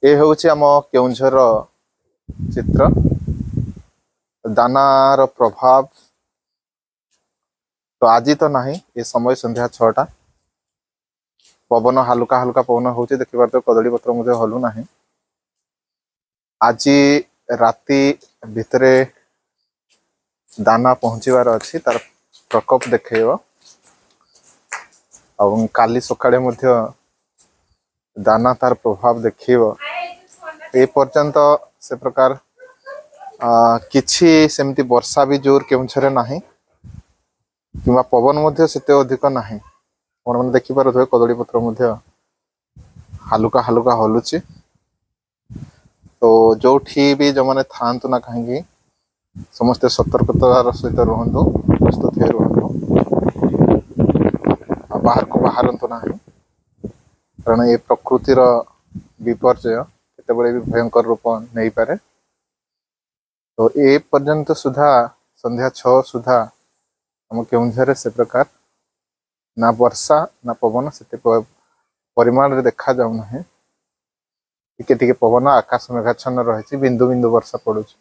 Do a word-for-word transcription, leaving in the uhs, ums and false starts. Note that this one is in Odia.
ଏ ହେଉଛି ଆମ କେଉଁଝରର ଚିତ୍ର। ଦାନାର ପ୍ରଭାବ ତ ଆଜି ତ ନାହିଁ। ଏ ସମୟ ସନ୍ଧ୍ୟା ଛଅଟା, ପବନ ହାଲୁକା ହାଲୁକା ପବନ ହେଉଛି, ଦେଖିପାରୁଥିବେ କଦଳୀ ପତ୍ର ମଧ୍ୟ ହଲୁ ନାହିଁ। ଆଜି ରାତି ଭିତରେ ଦାନା ପହଞ୍ଚିବାର ଅଛି, ତାର ପ୍ରକୋପ ଦେଖେଇବ ଏବଂ କାଲି ସକାଳେ ମଧ୍ୟ ଦାନା ତାର ପ୍ରଭାବ ଦେଖେଇବ। ଏ ପର୍ଯ୍ୟନ୍ତ ସେ ପ୍ରକାର କିଛି ସେମିତି ବର୍ଷା ବି ଜୋର କେଉଁଝରରେ ନାହିଁ କିମ୍ବା ପବନ ମଧ୍ୟ ସେତେ ଅଧିକ ନାହିଁ। ଆପଣମାନେ ଦେଖିପାରୁଥିବେ କଦଳୀ ପତ୍ର ମଧ୍ୟ ହାଲୁକା ହାଲୁକା ହଲୁଛି। ତ ଯୋଉଠି ବି ଯେଉଁମାନେ ଥାଆନ୍ତୁ ନା କାହିଁକି, ସମସ୍ତେ ସତର୍କତାର ସହିତ ରୁହନ୍ତୁ, ପ୍ରସ୍ତୁତ ହୋଇ ରୁହନ୍ତୁ ଆଉ ବାହାରକୁ ବାହାରନ୍ତୁ ନାହିଁ, କାରଣ ଏ ପ୍ରକୃତିର ବିପର୍ଯ୍ୟୟ କେତେବେଳେ ବି ଭୟଙ୍କର ରୂପ ନେଇପାରେ। ତ ଏ ପର୍ଯ୍ୟନ୍ତ ସୁଦ୍ଧା ସନ୍ଧ୍ୟା ଛଅ ସୁଦ୍ଧା ଆମ କେଉଁଝରରେ ସେ ପ୍ରକାର ନା ବର୍ଷା ନା ପବନ ସେତେ ପରିମାଣରେ ଦେଖାଯାଉନାହିଁ। ଟିକେ ଟିକେ ପବନ, ଆକାଶ ମେଘାଚ୍ଛନ୍ନ ରହିଛି, ବିନ୍ଦୁ ବିନ୍ଦୁ ବର୍ଷା ପଡୁଛି।